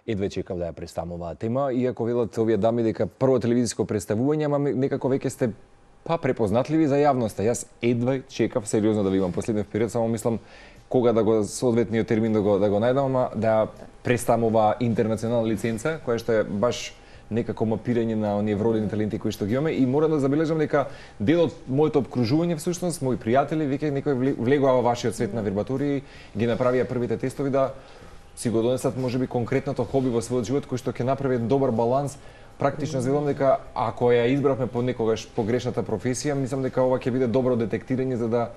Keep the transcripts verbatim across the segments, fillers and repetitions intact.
едве чекав да ја представам оваа тема, иако велат овие дами дека прво телевизиско представување, ама некако веќе сте па препознатливи за јавноста. Јас едве чекав сериозно да ви имам последниот период, само мислам кога да го соодветниот термин да го да го најдам, ама да представам оваа интернационална лиценца, која што е баш некако мапирање на оние вродени таленти кои што ги имаме, и морам да забележам дека дел од моето обкружување всушност, мои пријатели веќе некој влегува во вашиот свет на вербатории, ги направија првите тестови да си го донесат можеби конкретното хоби во својот живот кој што ќе направи добар баланс. Практично велам дека ако ја избравме по некогаш погрешната професија, мислам дека ова ќе биде добро детектирање за да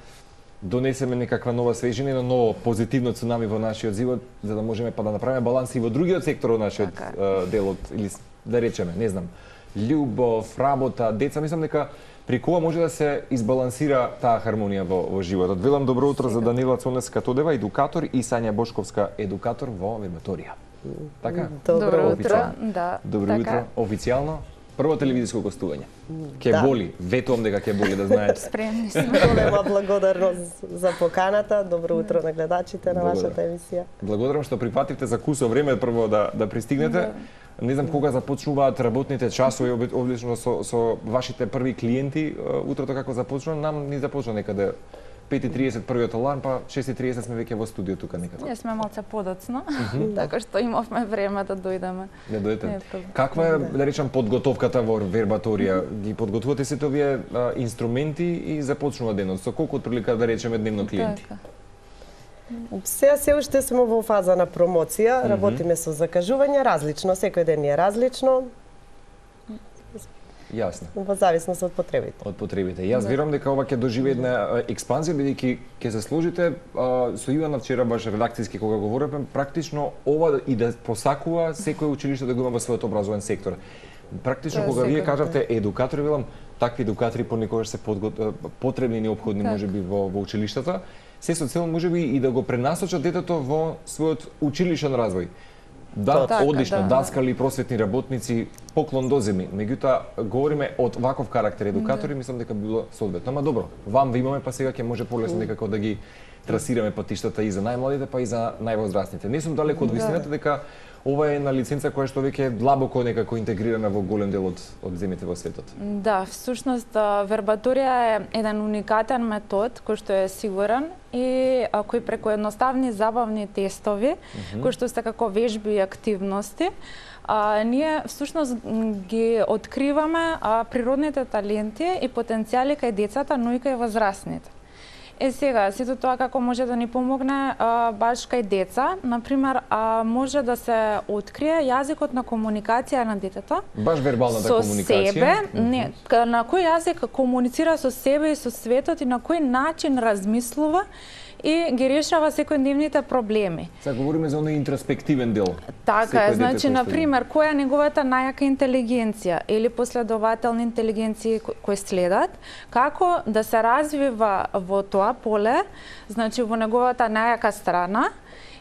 донесеме некаква нова свежина, едно ново позитивно цунами во нашиот живот, за да можеме па да направиме баланс и во другиот сектор од нашиот uh, дел од, или да речеме, не знам, љубов, работа, деца. Мислам дека преку ова може да се избалансира таа хармонија во, во животот. Велам добро утро за Данила Цонеска-Тодева, едукатор, и Сања Бошковска, едукатор во вербаторија. Така? Добро утро. Да. Добро така. утро. Официјално прво телевизиско гостување. Ке да. боли, ветувам дека ке боли, да знаете. Спремни сме. Голема благодарност за поканата. Добро утро на гледачите на вашата емисија. Благодарам што прифативте за кусо време прво да да пристигнете. Да. Не знам кога започнуваат работните часови, одлично со со вашите први клиенти. Утрото како започна, нам ни започна некаде пет и триесет првиот аларм, па шест и триесет сме веќе во студио тука некако. Ние сме малце подоцно, така што имавме време да дојдеме. Не дојдете. Каква е, да речам, подготовката во вербаторија? Ги подготвувате сите овие инструменти и започнува денот? Со колку отприлика, да речеме, дневно клиенти? Сега се уште сме во фаза на промоција, работиме со закажување, различно, секој ден е различно. Јасно. Во зависност од потребите. Од потребите. Јас верувам дека ова ќе доживее една експанзија, бидејќи ќе се сложите а, со Ивана вчера баш редакцијски кога говоревме, практично ова и да посакува секој училиште да го има во својот образовен сектор. Практично кога вие кажавте едукатори, велам, такви едукатори понекогаш се подгот... потребни и неопходни можеби во, во училиштата, се со цел можеби и да го пренасочат детето во својот училишен развој. Да, така, одлично, да, даскали, просветни работници, поклон до земи. Меѓутоа, говориме од ваков карактер едукатори, да. Мислам дека било соодветно. Ама добро, вам ви имаме, па сега ќе може полесно некако да ги трасираме патиштата и за најмладите, па и за највозрастните. Не сум далеко од вистината дека ова е една лиценца која што веќе е длабоко некако интегрирана во голем дел од, од земите во светот. Да, всушност вербаторија е еден уникатен метод кој што е сигурен и а, кој преку едноставни забавни тестови, mm -hmm. кои што се како вежби и активности, а, ние всушност ги откриваме а, природните таленти и потенцијали кај децата, но и кај возрастните. Е сега, сето тоа како може да ни помогне а, баш кај деца, например, а, може да се открие јазикот на комуникација на детето. Баш вербалната со комуникација. Со себе, не, на кој јазик комуницира со себе и со светот и на кој начин размислува и ги решава секојдневните проблеми. Сега говориме за оној интроспективен дел. Така е, значи, например, која е неговата најака интелигенција или последователни интелигенции кои следат, како да се развива во тоа поле, значи во неговата најака страна,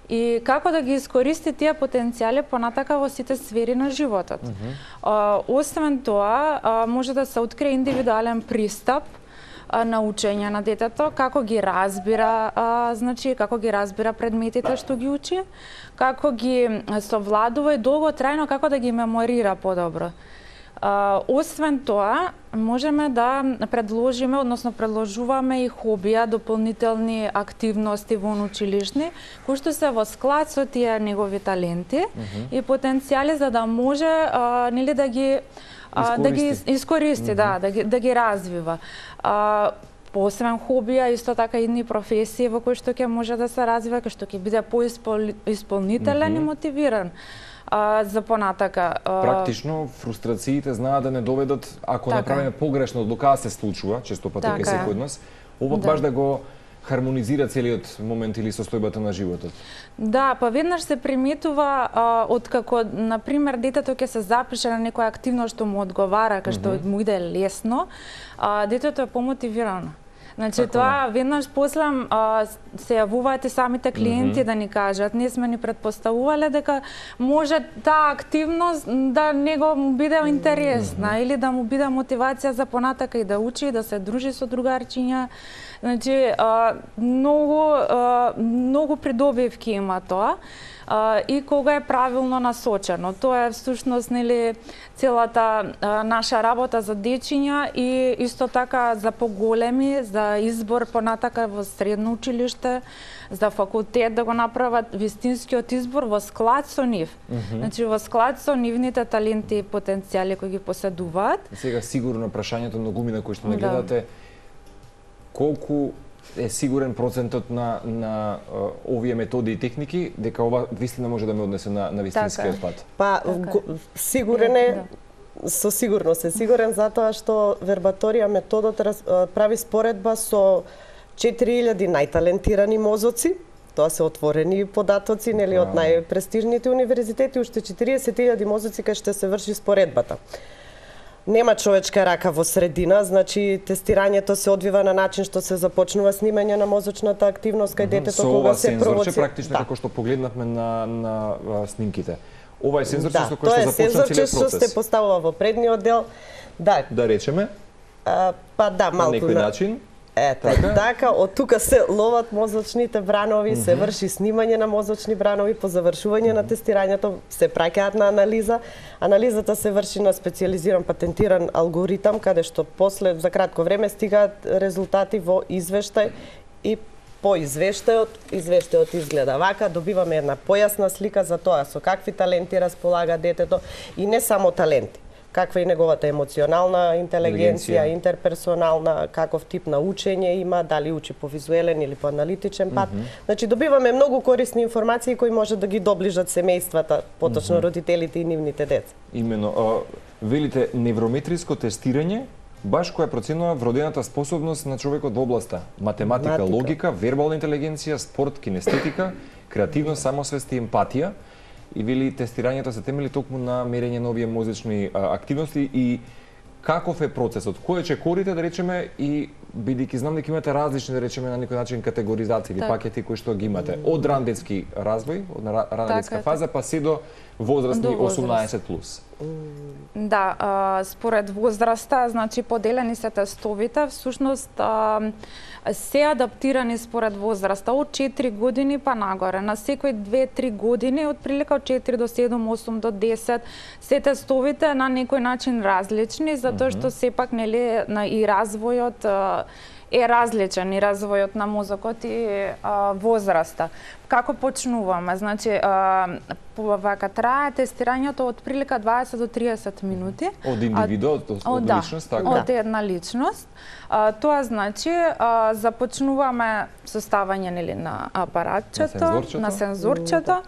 и како да ги искористи тие потенцијали понатака во сите сфери на животот. Mm -hmm. а, освен тоа, а, може да се открие индивидуален пристап на учење на детето, како ги разбира, а, значи како ги разбира предметите што ги учи, како ги совладува и долготрајно како да ги меморира подобро. А, освен тоа, можеме да предложиме, односно предложуваме и хобија, дополнителни активности во училишни, кои што се во склад со тие негови таленти mm -hmm. и потенцијали за да може а, нели да ги А, да ги искористи, mm -hmm. да, да ги, да ги развива. А, посебен хобија, исто така идни професии во кои што ќе може да се развива, кои што ќе биде поисполнителен mm -hmm. и мотивиран а, за понатака. А... Практично, фрустрациите знаат да не доведат, ако така. направиме погрешно, докаде се случува, често пати кај секој од нас, ова да. баш да го хармонизира целиот момент или состојбата на животот. Да, па веднаш се приметува а, од како, например, детето ќе се запише на некоја активност што му одговара, кај што mm -hmm. му иде лесно, а, детето е помотивирано. Значи, така, тоа не. веднаш после а, се јавуваат и самите клиенти mm -hmm. да ни кажат, ние сме ни предпоставувале дека може таа активност да него му биде интересна mm -hmm. или да му биде мотивација за понатака и да учи, да се дружи со другарчиња, Значи, а, многу, а, многу придобивки има тоа. Uh, и кога е правилно насочено. Тоа е всушност нели целата uh, наша работа за дечиња и исто така за поголеми, за избор понатака во средно училиште, за факултет да го направат вистинскиот избор во склад со нив. Mm -hmm. Значи во склад со нивните таленти и потенцијали кои ги поседуваат. Сега сигурно прашањето на гумина кои што не гледате, да. Колку е сигурен процентот на на uh, овие методи и техники дека ова вистина може да ме однесе на на вистинскиот така. пат? Па така. Сигурен е, да. Со сигурност е сигурен затоа што вербаторија методот раз, прави споредба со четири илјади најталентирани мозоци. Тоа се отворени податоци, нели, од најпрестижните универзитети, уште четириесет илјади мозоци кај што се врши споредбата. Нема човечка рака во средина, значи тестирањето се одвива на начин што се започнува снимање на мозочната активност кај детето кога се провоцира. Со практично како што погледнавме на на снимките. Ова е сензорче да, со кој што започна целиот процес. тоа е сензорче што се поставува во предниот дел. Да. Да речеме? А, па да, малку на некој на... начин. Ете, така, така од тука се ловат мозочните бранови, mm -hmm. се врши снимање на мозочни бранови, по завршување mm -hmm. на тестирањето се праќаат на анализа. Анализата се врши на специјализиран патентиран алгоритам, каде што после за кратко време стигаат резултати во извештај и по извештајот, извештајот изгледа вака, добиваме една појасна слика за тоа со какви таленти располага детето и не само таленти. Каква е неговата емоционална интелигенција, интерперсонална, каков тип на учење има, дали учи по визуелен или по аналитичен пат. Mm -hmm. Значи добиваме многу корисни информации кои може да ги доближат семејствата, поточно mm -hmm. родителите и нивните деца. Имено, а, велите неврометриско тестирање, баш која проценува вродената способност на човекот во областа математика, математика, логика, вербална интелигенција, спорт, кинестетика, креативност, самосвест и емпатија. И вели тестирањето се темели токму на мерење на овие мозични а, активности и каков е процесот? Кој ќе корите, да речеме, и бидејќи знам дека имате различни, да речеме, на некој начин категоризации или так. пакети кои што ги имате од ран детски развој, од рана так, детска фаза, па се до возрастни до осумнаесет плюс. Да, а, според возраста, значи поделени се тестовите, всушност а, се адаптирани според возраста од четири години па нагоре. На секој две-три години, од прилика од четири до седум, осум до десет, се тестовите на некој начин различни, затоа што сепак нели на и развојот а, е различен, и развојот на мозокот и а, возраста. Како почнуваме? Значи, а, вака трае тестирањето од прилика дваесет до триесет минути. Од индивиду, од, од, од да, личност, така? Од една личност. А, тоа значи, а, започнуваме составање нели на апаратчето, на сензорчето, на сензорчето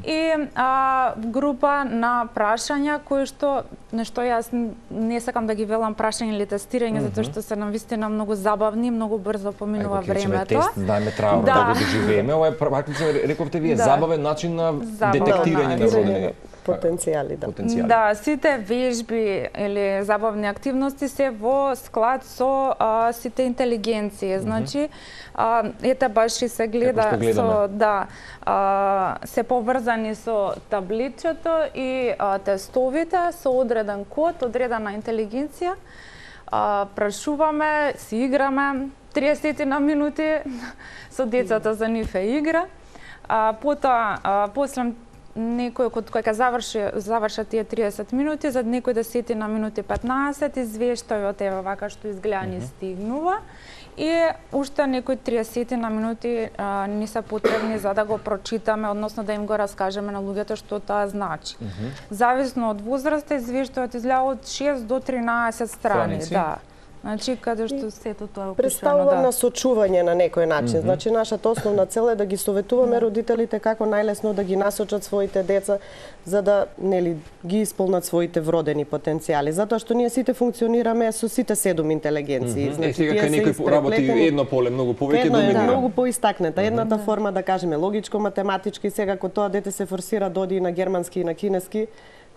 и а, група на прашања кои што нешто јас не сакам да ги велам прашања или тестирање, mm -hmm. затоа што се навистина многу забавни, многу брзо поминува Ајко, времето. Тест, знаеме траурно да. да го доживееме, ова е практично рековте вие да. забавен начин на забавен детектирање на вродени потенцијали, да. потенцијали. Да, сите вежби или забавни активности се во склад со а, сите интелигенции. Значи, а, ете баш и се гледа со да, а, се поврзани со табличето и а, тестовите со одреден код, одредена интелигенција. А, прашуваме, си играме триесет на минути со децата, за нив е игра. А, потоа, а, после некој кој ќе заврши завршат тие триесет минути, за некој десет на минути петнаесет, извештајот е вака што изгледа ни стигнува и уште некој триесет на минути а, ни се потребни за да го прочитаме, односно да им го раскажеме на луѓето што тоа значи. Mm -hmm. Зависно од возраста, извештајот изгледа од шест до тринаесет страни, страници. Да. Значи, каде што сето тоа е представува да. насочување на некој начин. Mm -hmm. Значи, нашата основна цел е да ги советуваме родителите како најлесно да ги насочат своите деца за да нели ги исполнат своите вродени потенцијали. Затоа што ние сите функционираме со сите седум интелигенции. Mm -hmm. Значи, е, сега кај некој работи едно поле многу повеќе, едно е да. многу поистакнета. Едната mm -hmm. форма, да кажеме, логичко-математички, сега кога тоа дете се форсира да оди и на германски и на кинески,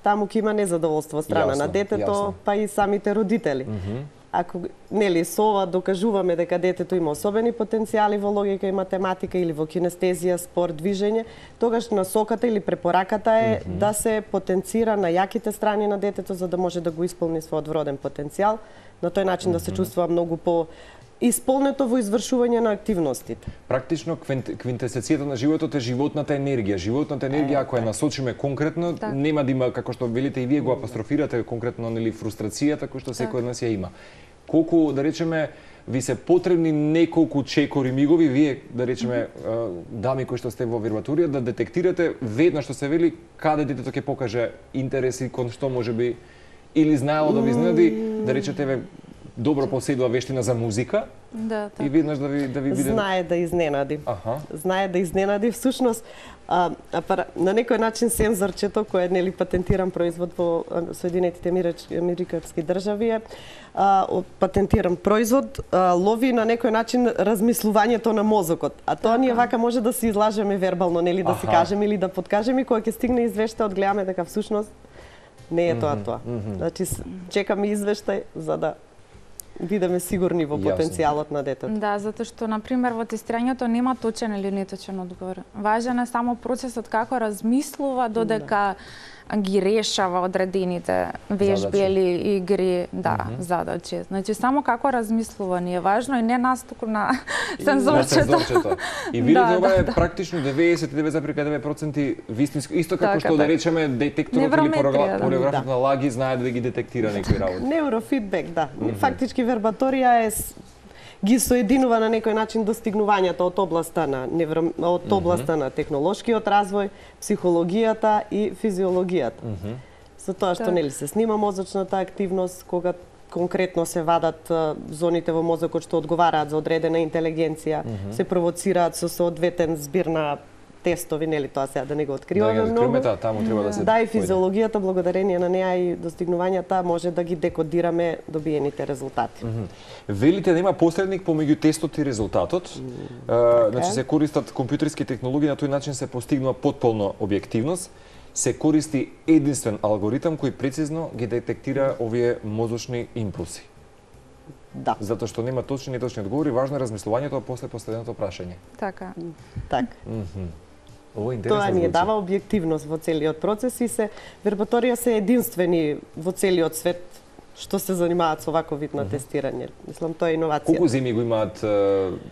таму ќе има незадоволство страна јасно, на детето, јасно. Па и самите родители. Mm -hmm. Ако нели со ова докажуваме дека детето има особени потенцијали во логика и математика или во кинестезија, спорт, движење, тогаш насоката или препораката е mm -hmm. да се потенцира на јаките страни на детето за да може да го исполни својот вроден потенцијал. На тој начин mm -hmm. да се чувствува многу по исполнето во извршување на активностите. Практично квинтесенцијата на животот е животната енергија. Животната енергија, ако ја насочиме конкретно, так. нема да има, како што велите и вие го апострофирате, конкретно нели фрустрацијата кој што секој од нас ја има. Колку, да речеме, ви се потребни неколку чекори мигови, вие, да речеме, дами кои што сте во вербаторија, да детектирате веднаш што се вели каде детето ќе покаже интереси кон што можеби или знаело да ви изненади, да речете ве добро поседува вештина за музика. Да, така. И веднаш да ви да ви биде Знае да изненади. Аха. Знае да изненади. Всушност, а, а, на некој начин сензорчето, кој е нели патентиран производ во Соединетите Американски држави е, а, патентиран производ, а, лови на некој начин размислувањето на мозокот. А тоа ние вака може да се излажеме вербално, нели да се кажеме или да подкажеме, кога ќе стигне извештај, одгледаме дека всушност не е тоа тоа. Mm -hmm. Значи чекаме извештај за да бидеме сигурни во потенцијалот на детето. Да, затоа што на пример во тестирањето нема точен или неточен одговор. Важен е само процесот како размислува додека да. ги решава одредените вежби или игри, да, mm -hmm. задачи. Значи само како размислува ни е важно и не нас туку на сензорчето. И видите да, ова е да, практично деветдесет и девет зарез девет проценти вистинско, исто како така, што да речеме детекторот или полиграфот да. на лаги знае да ги детектира некои работи. Неурофидбек, да. Mm -hmm. Фактички вербаторија е ги соединува на некој начин достигнувањата од областа на невро... од областа mm -hmm. на технолошкиот развој, психологијата и физиологијата. Mm -hmm. Со тоа што нели се снима мозочната активност, кога конкретно се вадат зоните во мозокот што одговараат за одредена интелигенција, mm -hmm. се провоцираат со соодветен збир на тестови, нели тоа сега да не го откриваме да, многу. Да, таму треба да се Да, и физиологијата, благодарение на неа и достигнувањата, може да ги декодираме добиените резултати. Mm -hmm. Велите да има посредник помеѓу тестот и резултатот. Mm -hmm. Значи се користат компјутерски технологии, на тој начин се постигнува потполна објективност. Се користи единствен алгоритам кој прецизно ги детектира овие мозочни импулси. Да. Затоа што нема точни и неточни одговори, важно е размислувањето после поставеното прашање. Така. Так. Mm -hmm. Ово е интересно. Тоа ни е дава објективност во целиот процес и се вербаторија се единствени во целиот свет што се занимаат со ваков вид на тестирање. Мислам, тоа е иновација. Колку земји го имаат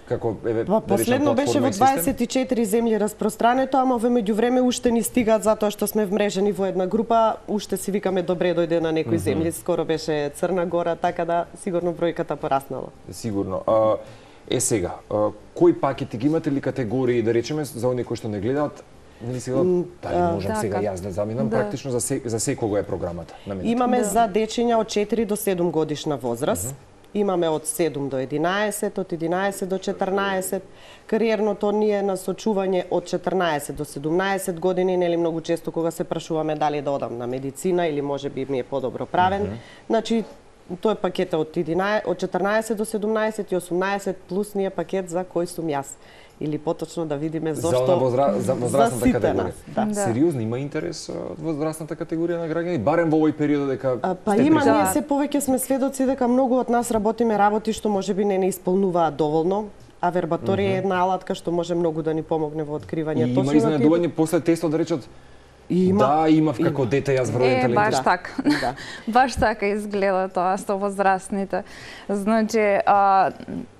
како еве да последно беше во дваесет и четири земји распространето, ама во меѓувреме уште ни стигаат затоа што сме вмрежени во една група, уште си викаме добре дојде на некои земји, скоро беше Црна Гора, така да сигурно бројката пораснала. Сигурно. А, е сега, а, кои пакети ги имате ли категории, да речеме, за оние кои што не гледаат? Нели сега, дали можам да, сега јас да заминам, да. Практично за, се, за секого е програмата наменета? Имаме да. за дечиња од четири до седум годишна возраст, uh -huh. имаме од седум до единаесет, од единаесет до четрнаесет, кариерното ни е насочување од четрнаесет до седумнаесет години, нели многу често кога се прашуваме дали да одам на медицина или можеби ми е подобро правен. Uh -huh. Значи, тој е пакета од, единаесет, од четрнаесет до седумнаесет и осумнаесет плюс ни е пакет за кој сум јас. Или поточно да видиме зошто за, возра... за возрастната за категорија. Да. Да. Сериозно има интерес од возрастната категорија на граѓани, барем во овој период дека а, па има ние се повеќе сме сведоци дека многу од нас работиме работи што можеби не не исполнуваат доволно, а вербаторија mm -hmm. е една алатка што може многу да ни помогне во откривање точно. Има изненадување после тестот да речат Има. Да, имав како има. Дете јас вроден талент. Е, баш така. Да. Баш така изгледа тоа со возрастните. Значи, а,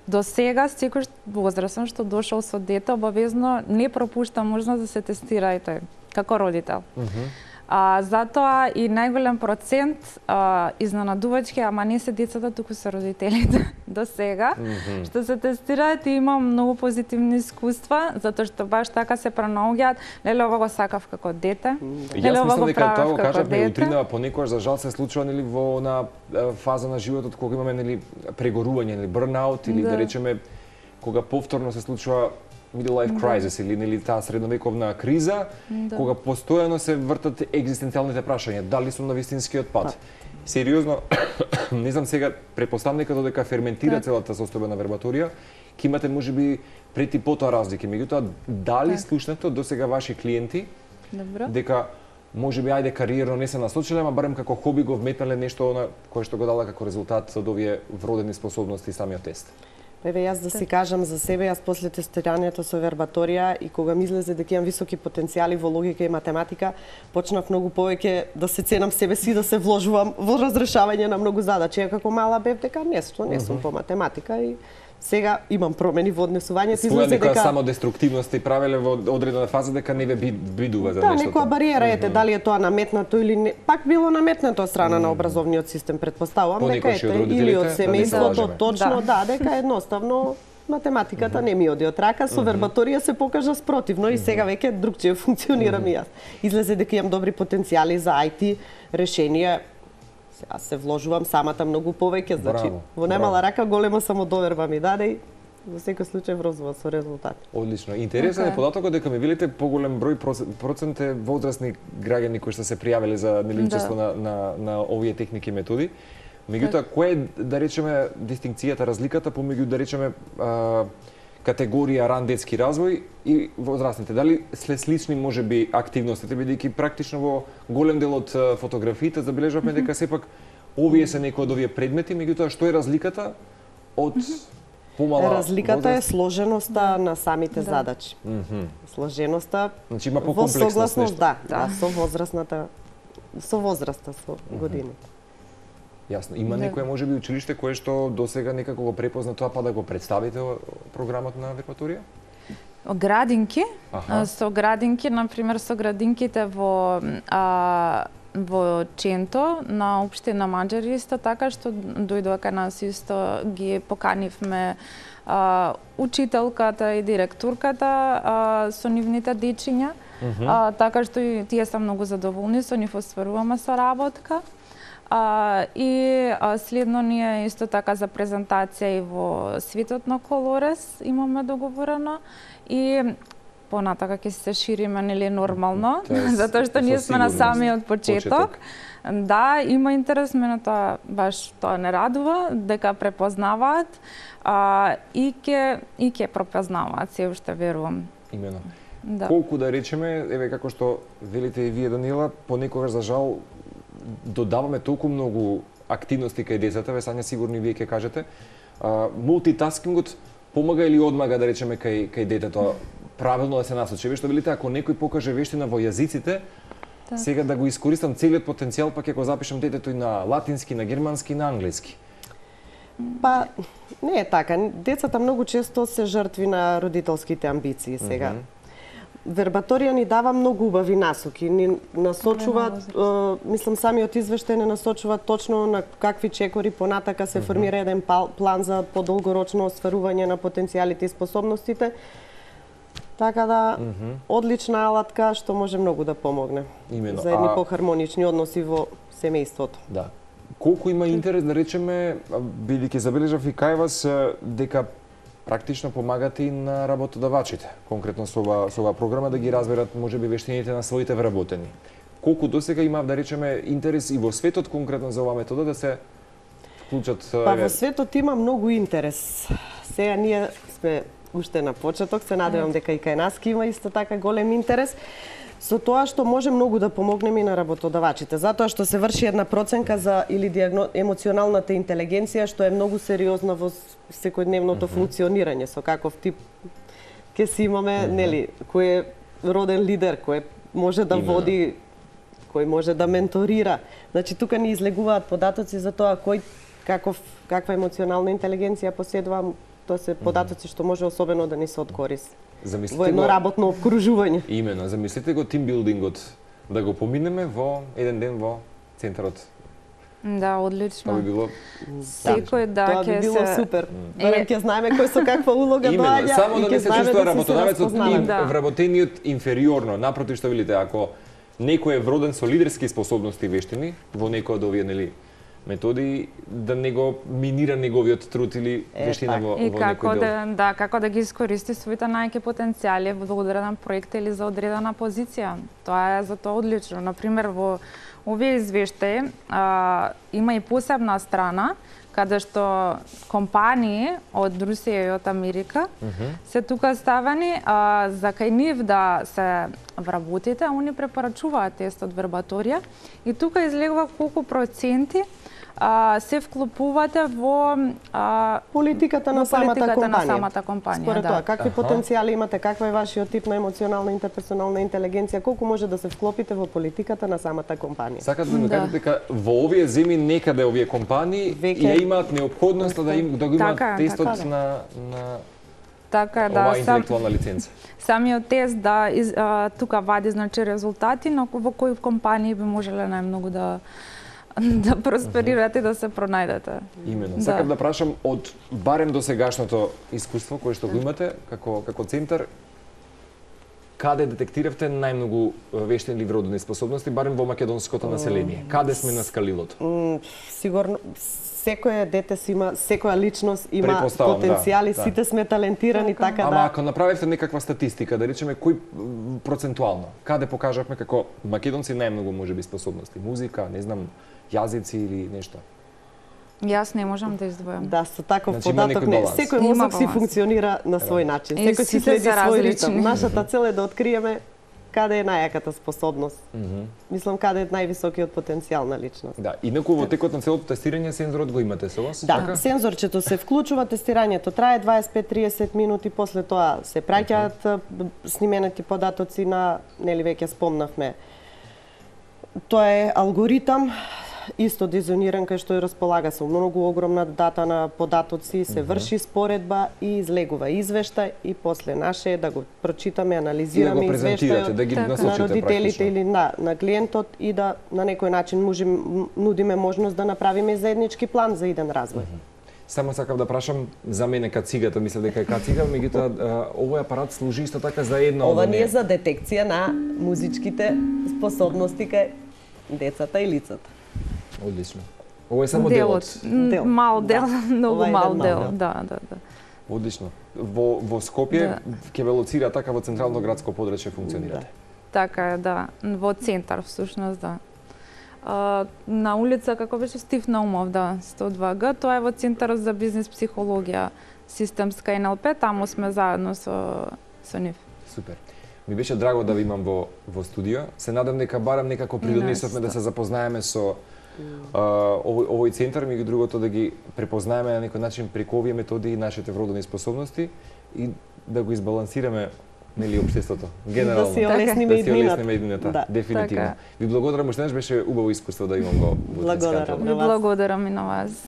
до сега секој возрастен што дошол со дете обавезно не пропушта можност да се тестирајте како родител. Uh -huh. А, затоа и најголем процент а, изненадувачки, ама не се децата, туку се родителите до сега, mm -hmm. што се тестираат и имам многу позитивни искуства, затоа што баш така се пронаоѓаат, леле ова го сакав како дете, леле ова го правев како кажавме, дете. Утринава понекогаш за жал се случува нели во на фаза на животот кога имаме нели прегорување или бърнаут или да, да речеме кога повторно се случува middle life crisis или нели таа средновековна криза, да, кога постојано се вртат екзистенцијалните прашања, дали сум на вистинскиот пат. пат. Сериозно, не знам сега, препоставам дека додека ферментира так. целата состојба на вербаторија, ќе имате можеби пред и потоа разлики. Меѓутоа, дали так. слушнато до сега ваши клиенти Добро. дека можеби ајде кариерно не се насочиле, ама барем како хоби го вметнале нешто на кое што го дала како резултат од овие вродени способности и самиот тест? Еве јас да си кажам за себе, јас после тестирањето со вербаторија и кога ми излезе дека имам високи потенцијали во логика и математика, почнав многу повеќе да се ценам себе си, да се вложувам во разрешавање на многу задачи. Ја како мала бев дека не, што не сум по математика и Сега имам промени во однесувањето, излезе дека некоја самодеструктивност и правеле во одредена фаза дека не ве бидува за да, нештото. Да, некоја бариера ете, mm -hmm. дали е тоа наметнато или не. Пак било наметнато од страна mm -hmm. на образовниот систем, претпоставувам дека ете или од семејството, да точно, да, да, дека едноставно математиката mm -hmm. не ми оди од рака, со вербаторија се покажа спротивно и сега веќе другчие функционирам mm -hmm. и јас. Излезе дека имам добри потенцијали за ај ти решенија. Аз се вложувам самата многу повеќе, значи во немала рака голема самодоверба ми даде и во секој случај врозува со резултат. Одлично. Интересен okay. е податокот дека ми велите поголем број процент е возрастни граѓани кои што се пријавиле за неличество да. на, на на овие техники и методи. Меѓутоа, која е, да речеме, дистинкцијата, разликата помеѓу, да речеме, а, категорија ран детски развој и возрастните? Дали след слични можеби активностите, бидејќи практично во голем дел од фотографиите забележавме дека сепак овие се некои од овие предмети, меѓутоа што е разликата од помала Разликата возраст? е сложеноста на самите да. задачи. Mm -hmm. Сложеноста значи има во согласност, да, да, да, со возрастната, со возраста, со годините. Јасно. Има да. некој можеби училиште кое што досега некако го препозна тоа па да го представите програмот на вербаторија? Градинки, Аха. со градинки, на пример со градинките во а, во Ченто на општина Маџари исто така што дојдоа кај нас исто ги поканивме а, учителката и директорката а, со нивните дечиња, mm -hmm. а, така што и тие се многу задоволни со нив остваруваме соработка. А, и а, следно ние исто така за презентација и во Светот на Колорес имаме договорено и понатака ќе се шириме нели нормално, затоа што ние сме на самиот почеток. почеток. Да, има интерес, мене тоа баш тоа не радува, дека препознаваат а, и ќе и ќе препознаваат, се уште верувам. Имено. Да. Колку да речеме, еве како што велите и вие, Даниела, понекогаш за жал додаваме толку многу активности кај децата, ве сања сигурно вие ќе кажете. А, мултитаскингот помага или одмага, да речеме, кај, кај детето правилно да се насочи? Што велите, ако некој покаже вештина во јазиците, так. сега да го искористам целиот потенцијал, па ќе го запишам детето и на латински, на германски, на англиски. Па, не е така. Децата многу често се жртви на родителските амбиции сега. Mm -hmm. Вербаторија ни дава многу убави насоки, ни насочува, е, мислам самиот извештај не насочува точно на какви чекори понатака се формира еден план за подолгорочно остварување на потенцијалите и способностите. Така да, mm -hmm. одлична алатка што може многу да помогне. Именно. За едни а... похармонични односи во семејството. Да. Колку има интерес, да речеме, бидејќи забележав и кај вас, дека практично помагате и на работодавачите, конкретно со ова, со ова програма, да ги разберат можеби вештините на своите вработени. Колку досега има, да речеме, интерес и во светот конкретно за оваа метода да се вклучат? Па во светот има многу интерес. Сега ние сме уште на почеток, се надевам дека и кај нас ќе има исто така голем интерес. Со тоа што може многу да помогнеме и на работодавачите, затоа што се врши една проценка за или диагно... емоционалната интелигенција, што е многу сериозна во секојдневното mm -hmm. функционирање, со каков тип ќе си имаме, mm -hmm. нели, кој е роден лидер, кој може да Именно. води, кој може да менторира. Значи тука ни излегуваат податоци за тоа кој каков каква емоционална интелигенција поседува, тоа се податоци што може особено да ни се од корис. Замислите во едно го... работно обкружување. Имено, замислите го тимбилдингот, да го поминеме во еден ден во центарот. Да, одлично. Тоа би било секој да ќе се... Тоа би било се... супер. Барем ќе знаеме кој со каква улога доаѓа. Имено, само да не се чувствува работодавецот и да. вработениот инфериорно. Напротив, што велите, ако некој е вроден со лидерски способности и вештини во некој од овие, нели, методи, да не го минира неговиот труд или вештина е, во, во некој дел. Да, да, како да ги искористи своите најаки потенцијали во одреден проект или за одредена позиција. Тоа е за тоа одлично. Например, во овие извештаи а, има и посебна страна каде што компании од Русија и од Америка mm -hmm. се тука ставени а, за кај нив да се вработите, они препорачуваат тест од вербаторија и тука излегува колку проценти а, се вклопувате во а, политиката на во самата политиката компанија. на самата компанија, Според да. тоа, какви Аха. потенцијали имате, каква е вашиот тип на емоционална интерперсонална интелигенција, колку може да се вклопите во политиката на самата компанија. Сакате да ми Да. кажете дека во овие земји некаде овие компании Веќе- ја имаат неопходноста да им да го имаат Така е, тестот така е. на на Така да, оваа сам, интелектуална лиценца. самиот тест да из, а, тука вади значи резултати, но во кои компании би можеле најмногу да да просперирате и да се пронајдете. Имено. Да. Сакам да прашам од барем до сегашното искуство кое што го имате како како центар, каде детектиравте најмногу вештини или вродени способности барем во македонското население? Каде сме на скалилото? М, Сигурно секое дете си има, секоја личност има Претпоставам, потенцијали, да, да. сите сме талентирани, Така. така Ама да. ако направивте некаква статистика, да речеме кој м, процентуално, каде покажавме како македонци најмногу можеби способности, музика, не знам, јазици или нешто? Јас не можам да издвојам. Да, со таков Значи, има податок некој не. баланс. Секој Има мозок си баланс. функционира на свој начин. И Секој си сите следи се свој различни. ритм. Нашата цел е да откриеме каде е најаката способност. Мислам каде е највисокиот потенцијал на личност. Да, инаку во текот на целото тестирање сензорот го имате со вас? Да, така? сензорчето се вклучува, тестирањето трае дваесет и пет до триесет минути, после тоа се праќаат б- снименати податоци на, нели веќе спомнавме. Тоа е алгоритам исто дизајниран кај што ја располага со многу огромна дата на податоци, се врши споредба и излегува извештај и после наше е да го прочитаме, И да анализираме го презентирате, извештајот да ги Така. на насочите родителите практично. или на, на клиентот и да на некој начин можем нудиме можност да направиме заеднички план за иден развој. Само сакав да прашам за мене кацигата, мислам дека е кацига, меѓутоа а, овој апарат служи исто така за една од Ова оние. не е за детекција на музичките способности кај децата и лицата. Одлично. Ово е само Делот, делот. м, Дел, мал да. дел, многу Ова е мал еден мал дел. дел. Да, да, да. Одлично. Во во Скопје Да. ќе ве лоцира така во централно градско подрачје функционирате. Така е, да. Во центар, всушност, да. А, на улица, како беше Стив Наумов, да, сто два Г, тоа е во Центарот за бизнис психологија, системска Н Л П, таму сме заедно со, со нив. Супер. Ми беше драго да ви имам во во студио. Се надам дека барам некако придонесовме да се запознаеме со а, овој овој центар, меѓу другото да ги препознаеме на некој начин преку овие методи и нашите вродени способности и да го избалансираме нели општеството генерално. Да си олесниме да си иднината. олесниме иднината. Да. Дефинитивно. Така. Ви благодарам, уште веднаш беше убаво искуство да имам го во Благодарам. Дринската. Ви благодарам и на вас.